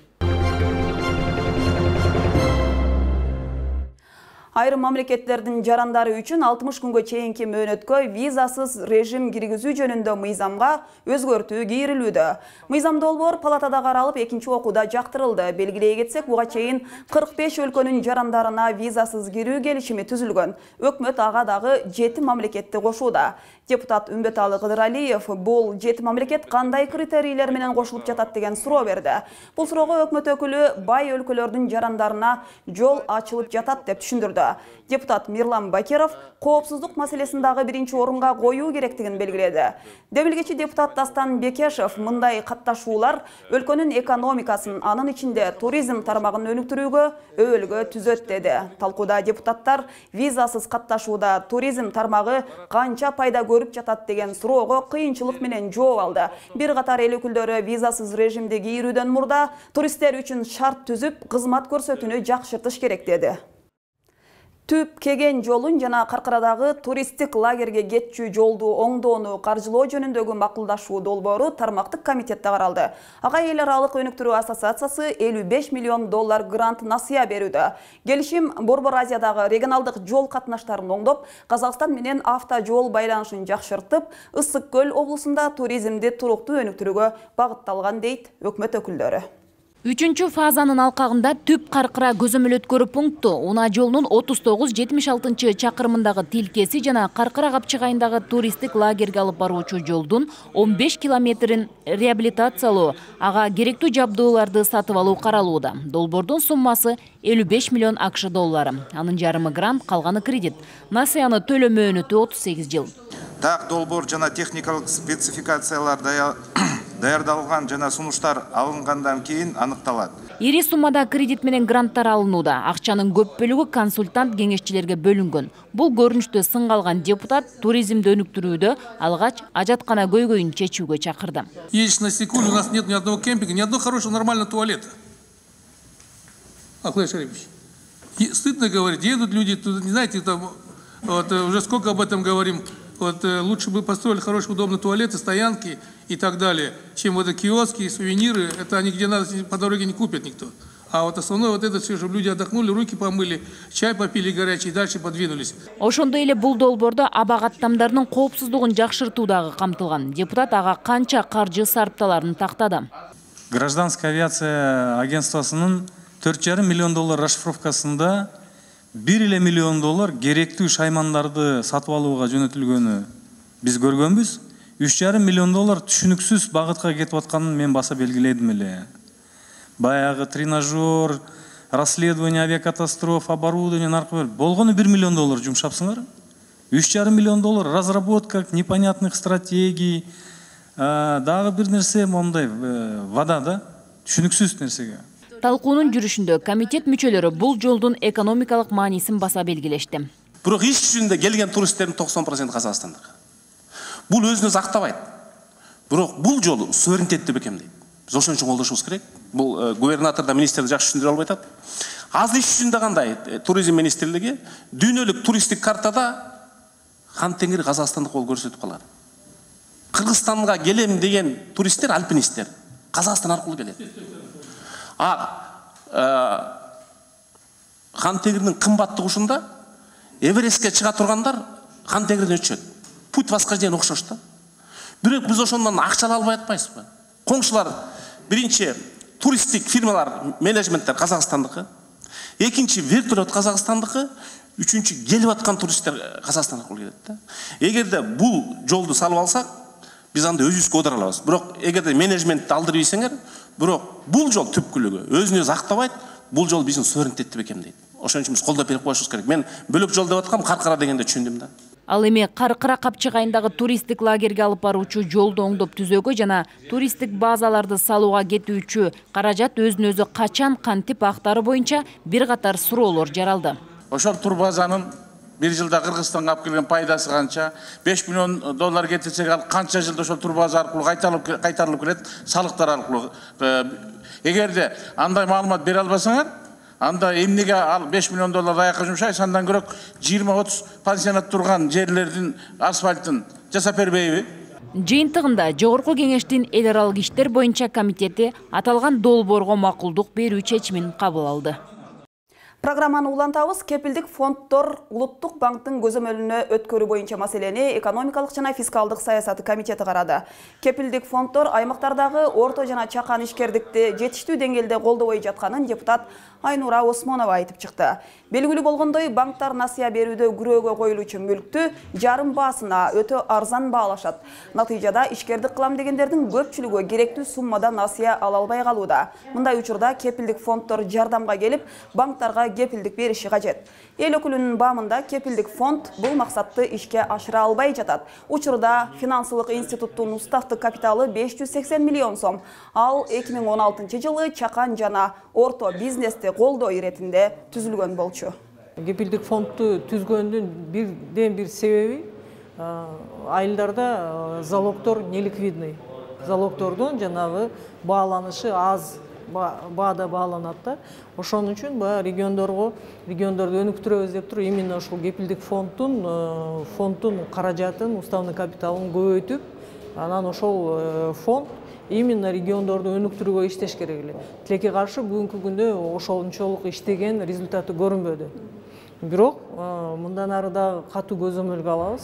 Айрым мамлекеттердин жарандары үчүн 60 күнгө чейинки мөөнөткө визасыз режим киргизүү жөнүндө мыйзамга өзгөртүү кийрилүүдө. Мыйзам долбоор палатада каралып, экинчи окууда жактырылды. Белгилей кетсек, буга чейин 45 өлкөнүн жарандарына визасыз кирүү келишими түзүлгөн. Өкмөт ага дагы 7 мамлекетти кошууда. Депутат Үмбеталы Кыдыралиев бул 7 мамлекет кандай критерийлер менен кошулуп жатат деген суроо берди. Бул суроого өкмөт өкүлү бай өлкөлөрдүн жарандарына жол ачылып жатат деп түшүндүрдү. талкууланууда. Депутат Мирлан Бакиров коопсуздук маселесин дагы биринчи орунга коюу керектигин белгиледи. Демилгечи депутат Дастан Бекешев мындай катташуулар өлкөнүн экономикасын, анын ичинде туризм тармагын өнүктүрүүгө өбөлгө түзөт деди. Талкууда депутаттар визасыз катташууда туризм тармагы канча пайда көрүп жатат деген суроого кыйынчылык менен жооп алды. Бир катар эл өкүлдөрү визасыз режимде кирүүдөн мурда туристтер үчүн шарт түзүп, кызмат көрсөтүүнү жакшыртыш керек деди. Түп кеген жолун жана Каркарадагы туристтик лагерге кетчү жолду оңдоону каржылоо жөнүндөгү макулдашуу долбоору тармактык комитетте каралды. Ага эл аралык өнүктүрүү ассоциациясы $55 миллион грант насыя берүүдө. Келишим Борбор Азиядагы регионалдык жол катнаштарын оңдоп, Казакстан менен автожол байланышын жакшыртып, Ысык көл облусунда туризмди туруктуу өнүктүрүүгө багытталган дейт өкмөт өкүлдөрү. 3-чү фазанын алкагында Түп Каркыра көзөмөл өткөрүү пункту Уна жолунун 39-76 чакырымындагы тилкеси жана Каркыра капчыгайындагы туристтик лагерге алып баруучу жолдун 15 километрин реабилитациялоо, ага керектүү жабдууларды сатып алуу каралууда. Долбоордун суммасы $55 миллион доллары. Анын жарымы грант, калганы кредит. Насыяны төлөө мөөнөтү 38 жыл. Так долбоор жана техникалык спецификациялар даярдалган жана сунуштар алынгандан кийин аныкталат. Ири суммада кредит менен гранттар алынууда. Акчанын көп бөлүгү консультант кеңешчилерге бөлүнгөн. Бул көрүнүштө сынга алган депутат туризмди өнүктүрүүдө алгач ажаткана көйгөйүн чечүүгө чакырды. Едешь на Сикуль, у нас нет ни одного кемпинга, ни одного хорошего нормального туалета. Аклай Шарипович, стыдно говорить, едут люди, тут, не знаете, там, вот, уже сколько об этом говорим. Вот, лучше бы построили хорошие, удобные туалеты, стоянки и так далее, чем вот киоски, сувениры. Это они где надо по дороге не купит никто. А вот основное вот это все, чтобы люди отдохнули, руки помыли, чай попили горячий и дальше подвинулись. Ошондой эле бул долбоордо аба каттамдарынын коопсуздугун жакшыртуу дагы камтылган. Депутат ага канча каржы сарпталарын тактады. Гражданская авиация агентствосунун $4,5 миллион расшифровкасында $1 миллион керектүү шаймандарды сатып алууга жөнөтүлгөнү биз көргөнбүз. $3,5 миллион түшүнүксүз багытка кетип атканын мен баса белгиледим эле. Баягы тренажер, расследование авиакатастроф, оборудование наркы болгону $1 миллион жумшапсыңар. $3,5 миллион разработка непонятных стратегий, дагы бир нерсе мондай вода да, түшүнүксүз нерсеге. Талкуунун жүрүшүндө комитет мүчөлөрү бул жолдун экономикалык маанисин баса белгилешти. Бирок иш жүзүндө келген туристтердин 90% Казакстандык. Бул өзүн өзү актабайт. Бирок бул жол суверенитетти бекемдейт. Биз ошон үчүн колдошубуз керек. Бул губернатор да министр да жакшы түшүндүрө албай атат. Азыр иш жүзүндө кандай? Туризм министрлиги дүйнөлүк туристтик картада Хан Теңир Казакстандык болуп көрсөтүп калат. Кыргызстанга келем деген туристтер альпинисттер Казакстан аркылуу келет. Хан Теңирдин кымбаттыгы ушунда Эверестке чыга тургандар Хан Теңирден өтүшөт. Путь восхождения окшош да. Бирок биз ошондон акча ала албай атпайбызбы? Коңшулар биринчи туристтик фирмалар, менеджменттер Казакстандыкы, экинчи вертолет Казакстандыкы, үчүнчү келип аткан туристтер Казакстан аркылуу келет да. Эгерде бул жолду салып алсак, биз анда өзүбүзгө одура алабыз. Бирок эгерде менеджментти алдырып ийсеңер, бирок бул жол түпкүлүгү өзүн өзү актабайт, бул жол биздин суверенитетти бекемдейт. Ошон үчүн биз колдоп берип коюшубуз керек. Мен бөлөк жол деп аткам, Каркыра дегенде түшүндүм да. Ал эми Каркыра капчыгайындагы туристтик лагерге алып баруучу жолду оңдоп түзөөгө жана туристтик базаларды салууга кетүүчү каражат өзүн өзү качан кантип актары боюнча бир катар суроолор жаралды. Ошол турбазанын бир жылда Кыргызстанга алып келген пайдасы канча? $5 миллион кетирсек, ал канча жылда ошол турбаза аркылуу кайтарылып келет, салыктар аркылуу. Эгерде андай маалымат бере албасаңар, анда эмнеге ал $5 миллион аякка жумшайсыз, андан көрөк 20-30 пансионат турган жерлердин асфальтын жасап бербейби? Жыйынтыгында Жогорку Кеңештин эл аралык иштер боюнча комитети аталган долбоорго макулдук берүү чечимин кабыл алды. Программаны улантабыз. Кепилдик фонддор Улуттук банктын көзөмөлүнө өткөрүү боюнча маселени экономикалык жана фискалдык саясаты комитети карады. Кепилдик фонддор аймактардагы орто жана чакан ишкердикти жетиштүү деңгээлде колдобой жатканын депутат Айнура Осмонова айтып чыкты. Белгилүү болгондой, банктар насыя берүүдө күрөөгө коюлуучу мүлктү жарым баасына өтө арзан баалашат. Натыйжада ишкердик кылам дегендердин көпчүлүгү керектүү суммада насыя ала албай калууда. Мындай учурда кепилдик фонддор жардамга келип, банктарга учурда кепилдик бериши кажет. Эл өкүлүнүн баамында кепилдик фонд бул максатты ишке ашыра албай жатат. Учурда финансылык институттун уставдык капиталы 580 миллион сом. Ал 2016 жылы чакан жана орто бизнести колдоо иретинде түзүлгөн болчу. Кепилдик фондду түзгөндүн бирден бир себеби айылдарда залогдор неликвидный. Залогдордун жанагы бааланышы аз баада бааланат да. Ошон үчүн региондорду өнүктүрөбүз деп туруп именно ушул кепилдик фонддун каражатын, уставный капиталын көбөйтүп, анан ошол фонд именно региондорду өнүктүрүүгө иштеш керек эле. Тилекке каршы бүгүнкү күндө ошончолук иштеген результаты көрүнбөдү. Бирок мындан ары да катуу көзөмөлгө алабыз.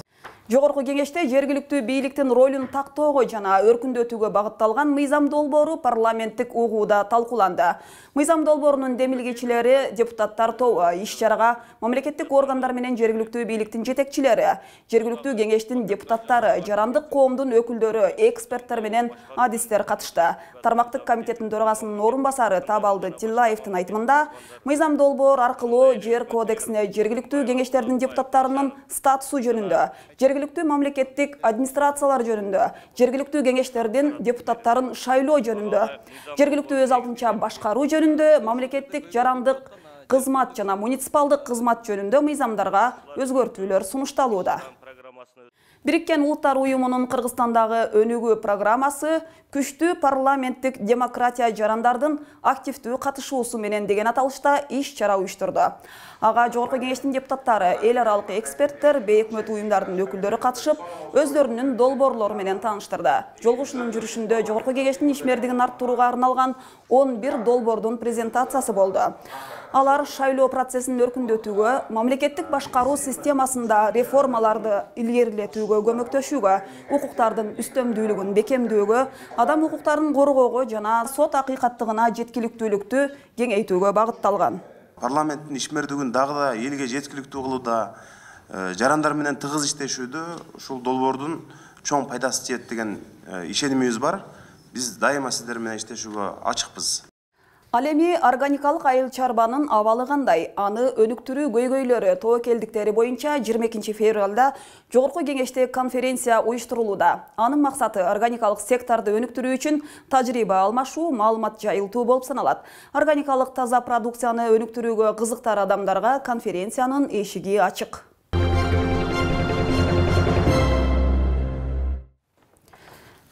Жогорку кеңеште жергиликтүү бийликтин ролун тактоого жана өркүндөтүүгө багытталган мыйзам долбоору парламенттик угууда талкууланды. Мыйзам долбоорунун демилгечилери депутаттар тобу иш-чарага мамлекеттик органдар менен жергиликтүү бийликтин жетекчилери, жергиликтүү кеңештин депутаттары, жарандык коомдун өкүлдөрү, эксперттер менен адистер катышты. Тармактык комитеттин төрагасынын орун басары Табалды Тиллаевдин айтымында, мыйзам долбоор аркылуу жер кодексине жергиликтүү кеңештердин депутаттарынын статусу жөнүндө, жергиликтүү мамлекеттик администрациялар жөнүндө, жергиликтүү кеңештердин депутаттарын шайлоо жөнүндө, жергиликтүү өз алдынча башкаруу жөнүндө, мамлекеттик жарандык кызмат жана муниципалдык кызмат жөнүндө мыйзамдарга өзгөртүүлөр сунушталууда. Бириккен Улуттар уюмунун Кыргызстандагы өнүгүү программасы күчтүү парламенттик демократия жарандардын активдүү катышуусу менен деген аталышта иш-чара уюштурду. Ага жогорку кеңештин депутаттары, эл аралык эксперттер, бейөкмөт уюмдардын өкүлдөрү катышып, өздөрүнүн долбоорлору менен тааныштырды. Жолугушуунун жүрүшүндө жогорку кеңештин ишмердигин арттырууга арналган 11 долбоордун презентациясы болду. Алар шайлоо процессин өркүндөтүүгө, мамлекеттик башкаруу системасында реформаларды илгерилетүүгө көмөктөшүүгө, укуктардын үстөмдүүлүгүн бекемдөөгө, адам укуктарын коргоого жана сот акыйкаттыгына жеткиликтүүлүктү кеңейтүүгө багытталган. Парламенттин ишмердигин дагы да элге жеткиликтүү кылууда, жарандар менен тыгыз иштешүүдө ушул долбоордун чоң пайдасы тиет деген ишенимибиз бар. Биз дайыма сиздер менен иштешүүгө ачыкпыз. Ал эми органикалык айыл чарбанын абалы кандай? Аны өнүктүрүү көйгөйлөрү, тобокелдиктери боюнча 22 февралда жогорку кеңеште конференция уюштурулууда. Анын максаты органикалык секторду өнүктүрүү үчүн тажрыйба алмашуу, маалымат жайылтуу болуп саналат. Органикалык таза продукцияны өнүктүрүүгө кызыктар адамдарга конференциянын эшиги ачык.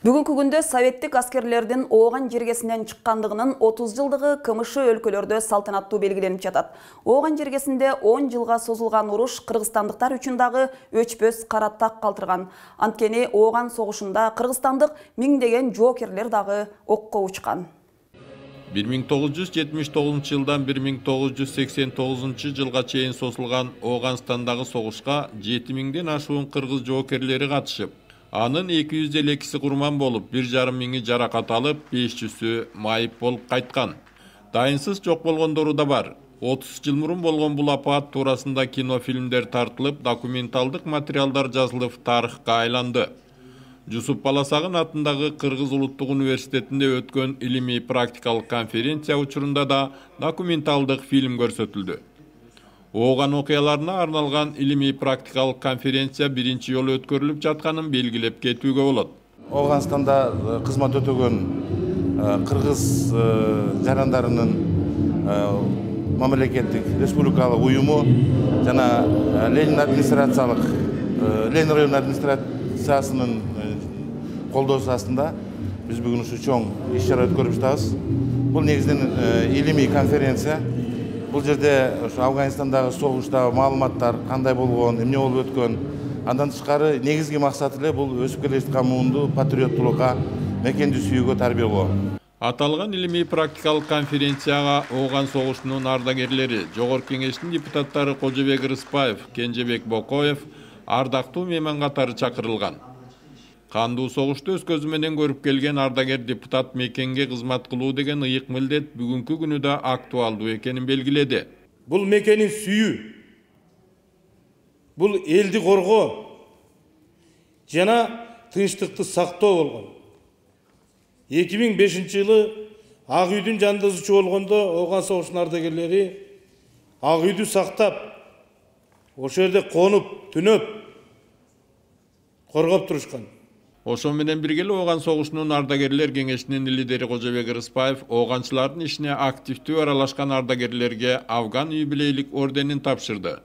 Бүгүнкү күндө советтик аскерлердин Ооган жергесинен чыккандыгынын 30 жылдыгы КМШ өлкөлөрдө салтанаттуу белгиленип жатат. Ооган жергесинде 10 жылга созулган уруш кыргызстандыктар үчүн дагы өчпөс кара так калтырган. Анткени Ооган согушунда кыргызстандык миңдеген жоокерлер дагы окко учкан. 1979 жылдан 1989 жылга чейин созулган Ооганстандагы согушка 7000ден ашуун кыргыз жоокерлери катышып, анын 252си курман болуп, 1,5 миңи жаракат алып, 500сү майып болуп кайткан. Дайынсыз жок болгондору да бар. 30 жыл мурун болгон бул апаат туурасында кинофильмдер тартылып, документалдык материалдар жазылып, тарыхка айланды. Жусуп Баласагын атындагы Кыргыз улуттук университетинде өткөн илимий практикалык конференция учурунда да документалдык фильм көрсөтүлдү. Ооган окуяларына арналган илимий практикалык конференция биринчи жолу өткөрүлүп жатканын белгилеп кетүүгө болот. Ооганстанда кызмат өтөгөн кыргыз жарандарынын мамлекеттик республикалык уюму жана Ленин район администрациясынын колдоосу астында биз бүгүн ушу чоң иш-чара өткөрүп жатабыз. Бул негизинен илимий конференция. Бул жерде Афганистандагы согуштагы маалыматтар кандай болгон, эмне болуп өткөн, андан тышкары негизги максаты эле бул өсүп келе жаткан муунду патриоттулукка, мекенди сүйүүгө тарбиялоо. Аталган илимий практикалык конференцияга Ооган согушунун ардагерлери, жогорку кеңештин депутаттары Кожобек Рыспаев, Кенжебек Бокоев ардактуу мейман катары чакырылган. Кандуу согушту өз көзү менен көрүп келген ардагер депутат мекенге кызмат кылуу деген ыйык милдет бүгүнкү күнү да актуалдуу экенин белгиледи. Бул мекенин сүйүү, бул элди коргоо жана тынчтыкты сактоо болгон. 2005 жылы Ак үйдүн жанындагы болгондо Ооган согушунун ардагерлери ак үйдү сактап, ошол жерде конуп, түнөп, коргоп турушкан. Ошо менен бирге эле Ооган согушунун ардагерлер кеңешинин лидери Кожобек Рыспаев ооганчылардын ишине активдүү аралашкан ардагерлерге Афган юбилейлик орденин тапшырды.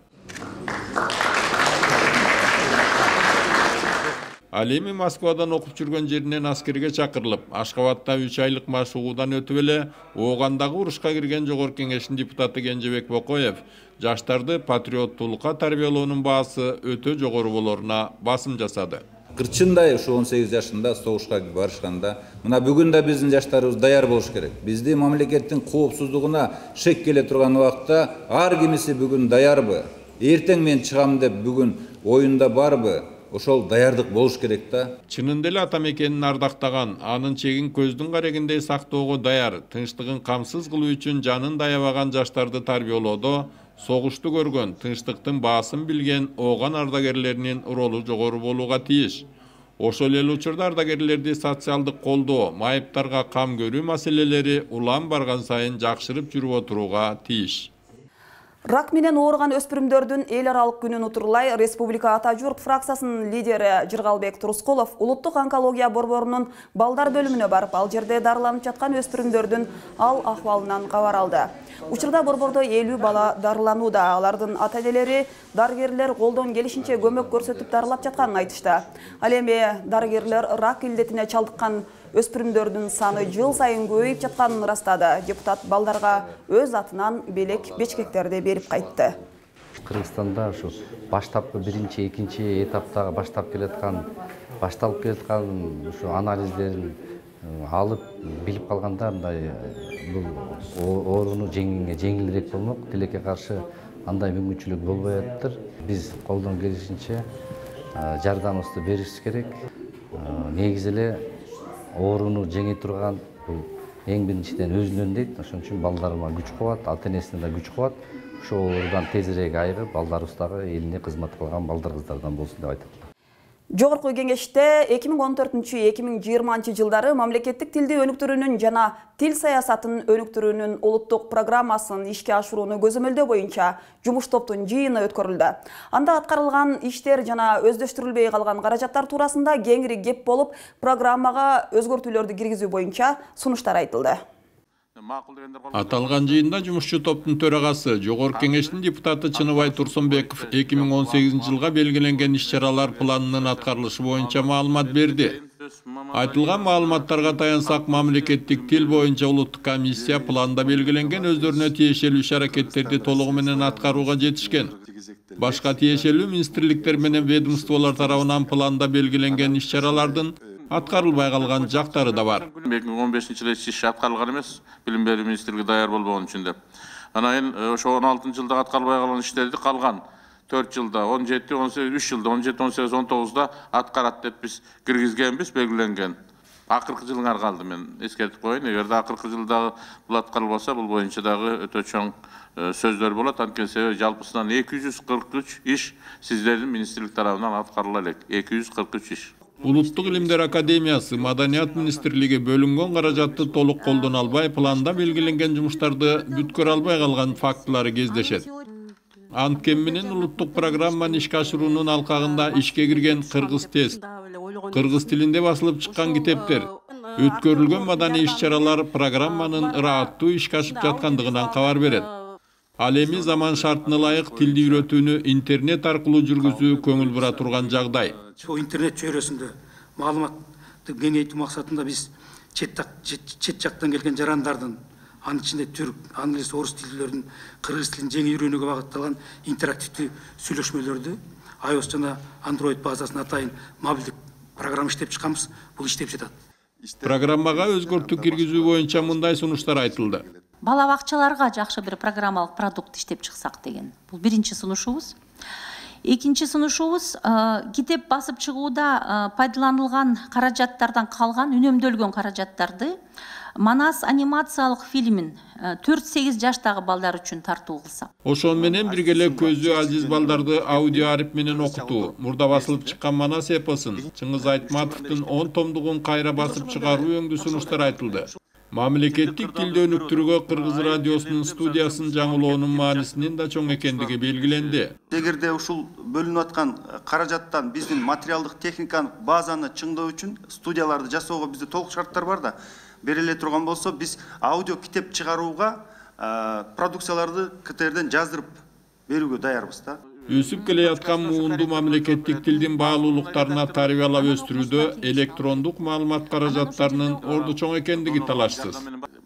Ал эми Москвадан окуп жүргөн жеринен аскерге чакырылып, Ашкабадта 3 айлык машыгуудан өтүп эле Оогандагы урушка кирген Жогорку Кеңештин депутаты Кенжебек Бокоев жаштарды патриоттуулукка тарбиялоонун баасы өтө жогору болоруна басым жасады. Кырчындай ушу 18 жашында согушка барышканда, мына бүгүн да биздин жаштарыбыз даяр болуш керек. Бизди мамлекеттин коопсуздугуна шек келе турган убакта ар кимиси бүгүн даярбы? Эртең мен чыгам деп бүгүн оюнда барбы? Ошол даярдык болуш керек да. Чынында эле ата мекенин ардактаган, анын чегин көздүн карегиндей сактоого даяр, тынчтыгын камсыз кылуу үчүн жанын даябаган жаштарды тарбиялоодо согушту көргөн, тынчтыктын баасын билген Ооган ардагерлеринин ролу жогору болууга тийиш. Ошол эле учурда ардагерлерди социалдык колдоо, майыптарга кам көрүү маселелери улам барган сайын жакшырып жүрүп отурууга тийиш. Рак менен ооруган өспүрүмдөрдүн эл аралык күнүн утурлай Республика Ата журт фракциясынын лидери Жыргалбек Турускулов улуттук онкология борборунун балдар бөлүмүнө барып, ал жерде дарыланып жаткан өспүрүмдөрдүн ал акыбалынан кабар алды. Учурда борбордо 50 бала дарыланууда. Алардын ата-энелери дарыгерлер колдон келишинче көмөк көрсөтүп дарылап жатканын айтышты. Ал эми дарыгерлер рак илдетине чалдыккан өспүрүмдөрдүн саны жыл сайын көбөйүп жатканын ырастады. Депутат балдарга өз атынан белек бечкектерди берип кайтты. Кыргызстанда ушу баштапкы биринчи, экинчи этаптагы башталып келаткан ушу анализдерин алып билип калганда мындай бул ооруну жеңилирээк болмок, тилекке каршы андай мүмкүнчүлүк болбой атыптыр. Биз колдон келишинче жардамыбызды беришибиз керек. Негизи эле ооруну жеңе турган бул эң биринчиден өзүнөн дейт. Ошон үчүн балдарыма күч кубат, ата-энесине да күч кубат. Ошол оорудан тезирээк айыгып, балдарыбыз дагы элине кызмат кылган балдар кыздардан болсун деп айтат. Жогорку Кеңеште 2014-2020 жылдары мамлекеттик тилди өнүктүрүүнүн жана тил саясатын өнүктүрүүнүн улуттук программасын ишке ашырууну көзөмөлдөө боюнча жумуш топтун жыйыны өткөрүлдү. Анда аткарылган иштер жана өздөштүрүлбөй калган каражаттар туурасында кеңири кеп болуп, программага өзгөртүүлөрдү киргизүү боюнча сунуштар айтылды. Аталган жыйында жумушчу топтун төрагасы, Жогорку Кеңештин депутаты Чыныбай Турсунбеков 2018 жылга белгиленген иш-чаралар планынын аткарылышы боюнча маалымат берди. Айтылган маалыматтарга таянсак, мамлекеттик тил боюнча улуттук комиссия планда белгиленген өздөрүнө тиешелүү иш-аракеттерди толугу менен аткарууга жетишкен. Башка тиешелүү министрликтер менен ведомстволор тарабынан планда белгиленген иш-чаралардын аткарылбай калган жактары да бар. 2015 жылы иш аткарылган эмес, билим берүү министрлиги даяр болбогон үчүн деп. Анан ошо 16 жылда аткарылбай калган иштерди калган 4 жылда, 17, 18, 3 жылда, 17, 18, 19да аткарат деп биз киргизгенбиз, белгиленген. Акыркы жылыңар калды, мен эскертип коеюн. Эгерде акыркы жылдагы бул аткарылбаса, бул боюнча дагы өтө чоң сөздөр болот. Анткени себеби жалпысынан 243 иш сиздердин министрлик тарабынан аткарыла элек. 243 иш. Улуттук илимдер академиясы, Маданият министрлиги бөлүнгөн каражатты толук колдоно албай, планда белгиленген жумуштарды бүткөрө албай калган фактылары кездешет. Анткени менен улуттук программаны ишке ашыруунун алкагында ишке кирген кыргыз тест, кыргыз тилинде басылып чыккан китептер, өткөрүлгөн маданий иш-чаралар программанын ырааттуу ишке ашып жаткандыгынан кабар берет. Ал эми заман шартына ылайык тилди үйрөтүүнү интернет аркылуу жүргүзүү көңүл бура турган жагдай. Интернет чөйрөсүндө маалыматты кеңейтүү максатында биз чет жактан келген жарандардын, анын ичинде түрк, англис, орус тилдеринин кыргыз тилин жеңил үйрөнүүгө багытталган интерактивдүү сүйлөшмөлөрдү iOS жана Android базасына атайын мобилдик программа иштеп чыкканбыз. Бул иштеп жатат. Программага өзгөртүү киргизүү боюнча мындай сунуштар айтылды. Бала бакчаларга жакшы бир программалык продукт иштеп чыксак деген. Бул биринчи сунушубуз. Экинчи сунушубуз китеп басып чыгууда пайдаланылган каражаттардан калган, үнөмдөлгөн каражаттарды Манас анимациялык фильмин 4-8 жаштагы балдар үчүн тартуу кылсак. Ошон менен бирге эле көзү ажиз балдарды аудио арип менен окутуу, мурда басылып чыккан Манас эпосун, Чыңгыз Айтматовдун 10 томдугун кайра басып чыгаруу өңдүү сунуштар айтылды. Мамлекеттик тилди өнүктүрүүгө Кыргыз радиосунун студиясын жаңылоонун маанисинин да чоң экендиги белгиленди. Эгерде ушул бөлүнүп аткан каражаттан биздин материалдык техникалык базаны чыңдоо үчүн студияларды жасоого бизде толук шарттар бар да, бериле турган болсо биз аудио китеп чыгарууга продукцияларды КТРден жаздырып берүүгө даярбыз да. Өсүп келе жаткан муунду мамлекеттик тилдин баалуулуктарына тарбиялап өстүрүүдө электрондук маалымат каражаттарынын орду чоң экендиги талашсыз.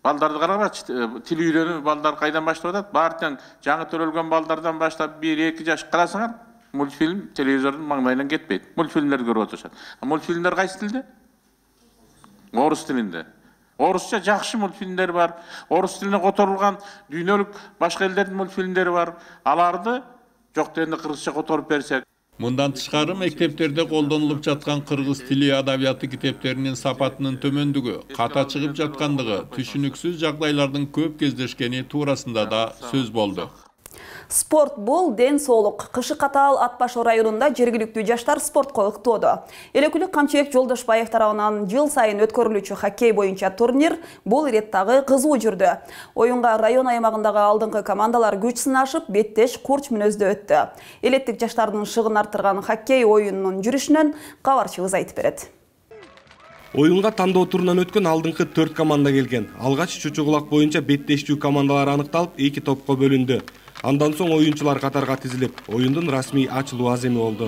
Балдарды карабачы, тил үйрөнүү балдар кайдан баштап атат? Баардык жаңы төрөлгөн балдардан баштап 1-2 жаш карасаңар, мультфильм телевизордун маңдайынан кетпейт. Мультфильмдер көрүп отурушат. Мультфильмдер кайсы тилде? Орус тилинде. Орусча жакшы мультфильмдер бар. Орус тилине которулган дүйнөлүк башка элдердин мультфильмдери бар. Аларды жок дегенде кыргызча которуп берсек. Мындан тышкары мектептерде колдонулуп жаткан кыргыз тили адабияты китептеринин сапатынын төмөндүгү, ката чыгып жаткандыгы, түшүнүксүз жагдайлардын көп кездешкени туурасында да сөз болду. Спорт бул ден соолук. Кышы катаал Ат Башы районунда жергиликтүү жаштар спортко ыктоодо. Элекүлүк Камчыбек Жолдошбаев тарабынан жыл сайын өткөрүлүүчү хоккей боюнча турнир бул иреттагы кызуу жүрдү. Оюнга район аймагындагы алдыңкы командалар күч сынашып, беттеш курч мүнөздө өттү. Элеттик жаштардын шыгын арттырган хоккей оюнунун жүрүшүнөн кабарчыбыз айтып берет. Оюнга тандоо турунан өткөн алдыңкы 4 команда келген. Алгач чучугулак боюнча беттештүү командалар аныкталып, 2 топко бөлүндү. Андан соң оюнчулар катарга тизилип, оюндун расмий ачылуу аземи болду.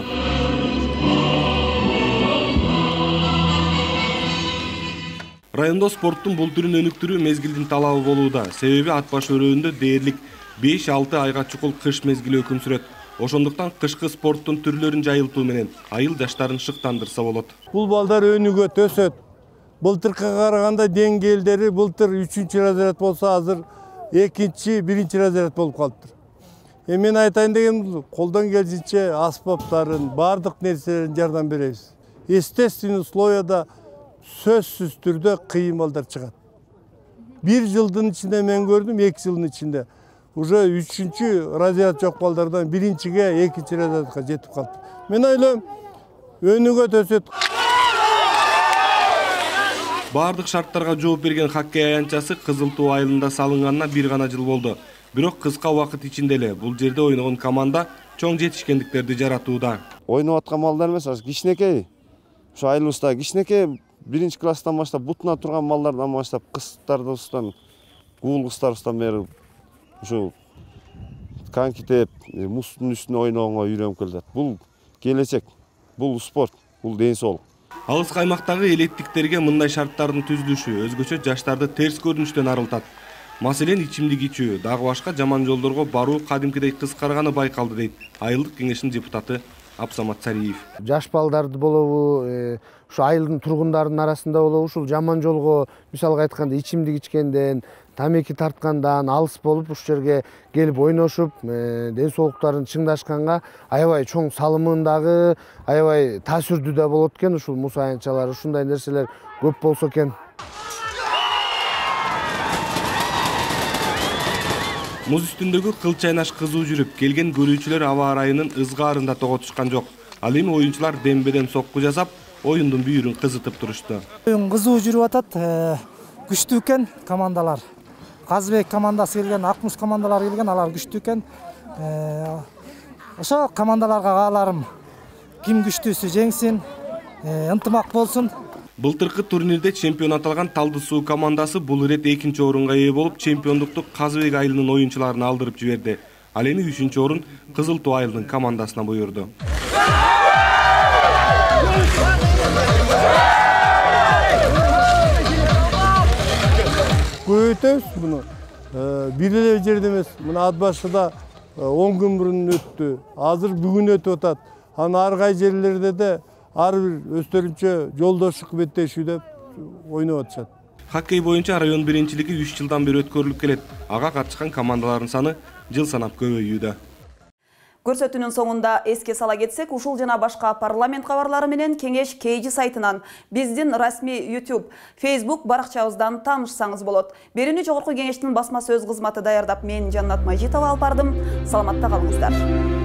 Райондо спорттун бул түрүн өнүктүрүү мезгилдин талабы болууда. Себеби Ат Баш өрөөнүндө дээрлик 5-6 айга чукул кыш мезгили өкүм сүрөт. Ошондуктан кышкы спорттун түрлөрүн жайылтуу менен айыл жаштарын шыктандырса болот. Бул балдар өнүгөт, өсөт. Былтыркыга караганда деңгээлдери былтыр 3-чү разряд болсо, азыр 2-чи, 1-чи разряд болуп калыптыр. Мен айтайын дегеним, колдон келишинче аспаптарын, бардык нерселерин жардам беребиз. Естественный условияда сөзсүз түрдө кыйын балдар чыгат. 1 жылдын ичинде мен көрдүм, 2 жылдын ичинде уже 3-чү разряд жок балдардан 1-чиге, 2-чи разрядка жетип калды. Мен ойлойм, өнүгөт, өсөт. Бардык шарттарга жооп берген хоккей аянтчасы Кызыл Тоо айылында салынганына 1 гана жыл болду. Бирок кыска убакыт ичинде эле бул жерде ойногон команда чоң жетишкендиктерди жаратууда. Ойноп аткан балдар эмес, кичинекей. Ушу айылыбызда кичинекей 1-чи класстан баштап бутуна турган балдардан баштап кыздарыбыздан, кул кыздарыбыздан бери ушу коньки теп, муздун үстүнө ойногонго үйрөнүп келет. Бул келечек, бул спорт, бул ден соолук. Алыс аймактагы элеттиктерге мындай шарттардын түзүлүшү өзгөчө жаштарды терс көрүнүштөн арылтат. Маселен, ичимдик ичүү, дагы башка жаман жолдорго баруу кадимкидей кыскарганы байкалды дейт айылдык кеңештин депутаты Абсамат Сариев. Жаш балдарды болобу, ушу айылдын тургундарынын арасында болобу, ушул жаман жолго, мисалга айтканда, ичимдик ичкенден, тамеки тарткандан алыс болуп, ушул жерге келип ойношуп, ден соолуктарын чыңдашканга аябай чоң салымындагы, аябай таасирдүү да болот экен ушул муз аянтчалары, ушундай нерселер көп болсо экен. Муз үстүндөгү кыл чайнаш кызуу жүрүп, келген көрүүчүлөр аба ырайынын ызгаарында того түшкөн жок. Ал эми оюнчулар дембеден сокку жасап, оюндун бүйүрүн кызытып турушту. Оюн кызуу жүрүп атат, күчтүү экен командалар. Казыбек командасы келген, Акмуз командалары келген, алар күчтүү экен. Ошо командаларга кааларым ким күчтүүсү жеңсин, ынтымак болсун. Былтыркы турнирде чемпион аталган Талды Суу командасы бул ирет 2-чи орунга ээ болуп, чемпиондукту Казыбек айылынын оюнчуларына алдырып жиберди. Ал эми 3-чү орун Кызыл Тоо айылынын командасына буйрду. Көбөйтөбүз муну. Бир эле жерде эмес. Мына Ат Башыда 10 күн мурун өттү. Азыр бүгүн өтүп атат. Аны ар кай жерлерде де ар бир өздөрүнчө жолдоштук беттешүүдө ойноп атышат. Хоккей боюнча район биринчилиги 3 жылдан бери өткөрүлүп келет. Ага катышкан командалардын саны жыл санап көбөйүүдө. Көрсөтүүнүн соңунда эске сала кетсек, ушул жана башка парламент кабарлары менен кеңеш KG сайтынан, биздин расмий YouTube, Facebook баракчабыздан таанышсаңыз болот. Берүүнү жогорку кеңештин басма сөз кызматы даярдап, мен Жаннат Мажитова алып бардым. Саламатта калыңыздар.